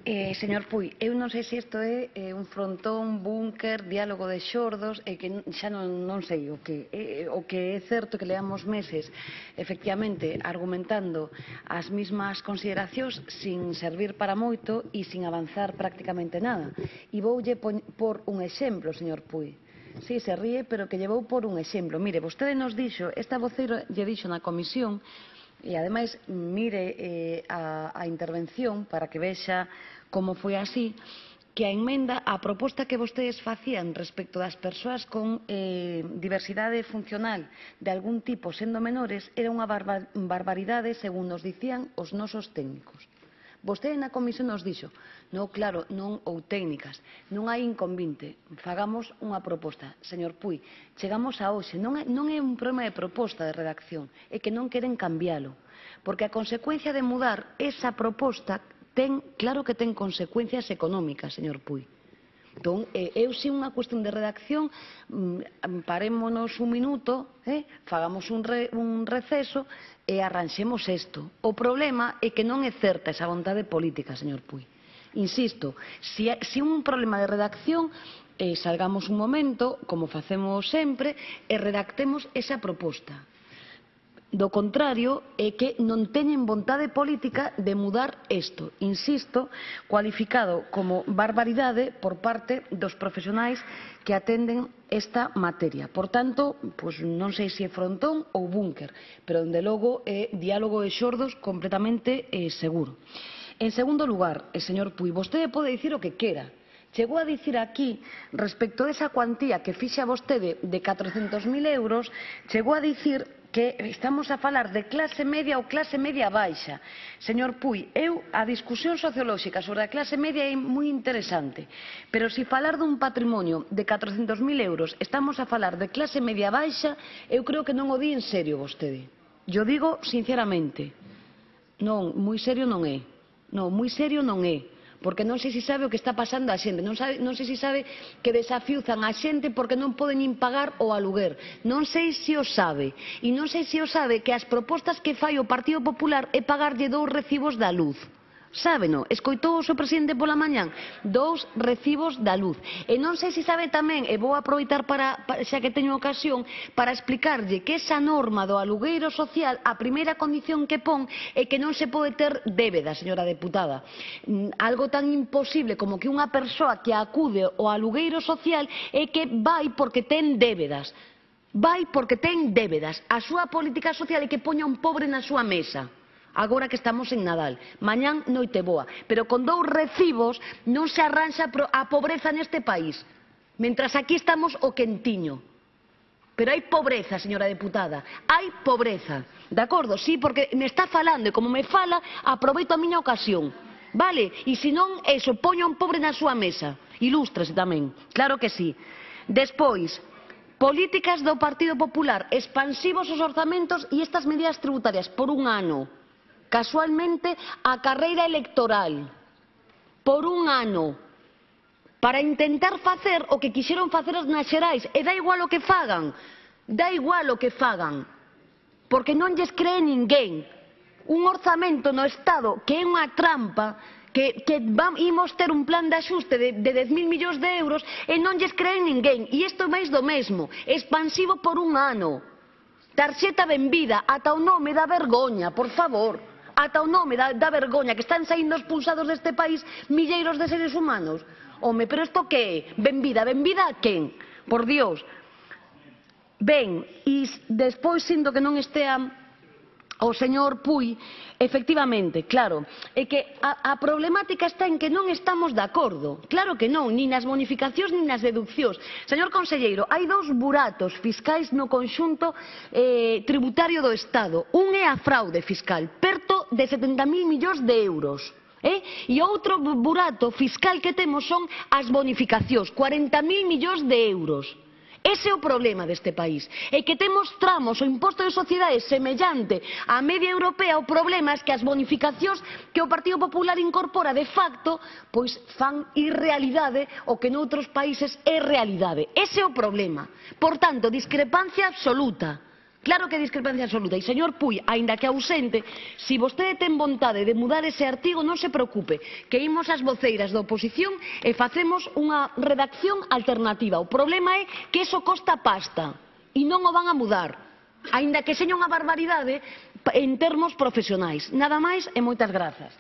Señor Puy, eu non sei se isto é un frontón, búnker, diálogo de xordos, e que xa non sei o que é certo que leamos meses efectivamente argumentando as mesmas consideracións sin servir para moito e sin avanzar prácticamente nada. E voulle por un exemplo, señor Puy. Sí, se ríe, pero que lle vou por un exemplo. Mire, vostede nos dixo, esta voceira lle dixo na comisión, e ademais mire a intervención para que vexa como foi así, que a emenda, a proposta que vostedes facían respecto das persoas con diversidade funcional de algún tipo sendo menores era unha barbaridade según nos dicían os nosos técnicos. Vostede na comisión nos dixo, non, claro, non, ou técnicas, non hai inconvinte, fagamos unha proposta. Señor Puy, chegamos a hoxe, non é un problema de proposta de redacción, é que non queren cambiálo, porque a consecuencia de mudar esa proposta claro que ten consecuencias económicas, señor Puy. Entón, eu sin unha cuestión de redacción, parémonos un minuto, fagamos un receso e arranxemos isto. O problema é que non é certa esa vontade política, señor Puy. Insisto, se un problema de redacción, salgamos un momento, como facemos sempre, e redactemos esa proposta. Do contrario, é que non teñen vontade política de mudar isto, insisto, cualificado como barbaridade por parte dos profesionais que atenden esta materia. Por tanto, non sei se é frontón ou búnker, pero, dende logo, é diálogo de xordos completamente seguro. En segundo lugar, señor Puy, vostede pode dicir o que quera. Chegou a dicir aquí, respecto desa cuantía que fixa vostede de 400.000 euros, chegou a dicir que estamos a falar de clase media ou clase media baixa. Señor Puy, a discusión sociolóxica sobre a clase media é moi interesante, pero se falar dun patrimonio de 400.000 euros estamos a falar de clase media baixa, eu creo que non o di en serio vostede. Yo digo sinceramente, non, moi serio non é. Non, moi serio non é. Porque non sei se sabe o que está pasando a xente, non sei se sabe que desafiuzan a xente porque non poden nin pagar o aluguer, non sei se o sabe, e non sei se o sabe que as propostas que fai o Partido Popular é pagarlle 2 recibos da luz. Sábeno, escoitou o seu presidente pola mañán, 2 recibos da luz. E non sei se sabe tamén, e vou aproveitar xa que teño ocasión, para explicarlle que esa norma do alugueiro social, a primeira condición que pon é que non se pode ter débeda, señora deputada. Algo tan imposible como que unha persoa que acude ao alugueiro social é que vai porque ten débedas. Vai porque ten débedas. A súa política social é que poña un pobre na súa mesa. Agora que estamos en Nadal, mañán noite boa, pero con 2 recibos non se arranxa a pobreza neste país, mentras aquí estamos o quentiño. Pero hai pobreza, señora deputada, hai pobreza, de acordo? Sí, porque me está falando e como me fala, aproveito a miña ocasión, vale? E se non, eso, poña un pobre na súa mesa, ilústrese tamén, claro que sí. Despois, políticas do Partido Popular, expansivos os orzamentos e estas medidas tributarias por un ano. Casualmente, a carreira electoral, por un ano, para intentar facer o que quixeron facer as nas xerais, e dá igual o que fagan, porque non lles cree ninguén. Un orzamento no Estado que é unha trampa, que imos ter un plan de axuste de 10.000 millóns de euros e non lles cree ninguén. E isto é máis do mesmo, expansivo por un ano. Tarxeta benvida, ata o nome dá vergoña, por favor. Ata o nome dá vergoña, que están saindo expulsados deste país milleiros de seres humanos. Home, pero isto que é? Benvida, benvida a quen? Por Dios. Ben, e despois, sinto que non estea o señor Puy, efectivamente, claro, é que a problemática está en que non estamos de acordo. Claro que non, nin nas bonificacións nin nas deduccións. Señor conselleiro, hai 2 buratos fiscais no conxunto tributario do Estado. Un é a fraude fiscal, perto de 70.000 millóns de euros. E outro burato fiscal que temos son as bonificacións, 40.000 millóns de euros. Ese é o problema deste país, é que temos tramos o imposto de sociedades semellante á media europea. O problema é que as bonificacións que o Partido Popular incorpora de facto, pois fan irrealidade o que noutros países é realidade. Ese é o problema. Por tanto, discrepancia absoluta. Claro que é discrepancia absoluta. E, señor Pui, aínda que ausente, se vostede ten vontade de mudar ese artigo, non se preocupe, que imos as voceiras da oposición e facemos unha redacción alternativa. O problema é que iso costa pasta e non o van a mudar, aínda que seña unha barbaridade en termos profesionais. Nada máis e moitas grazas.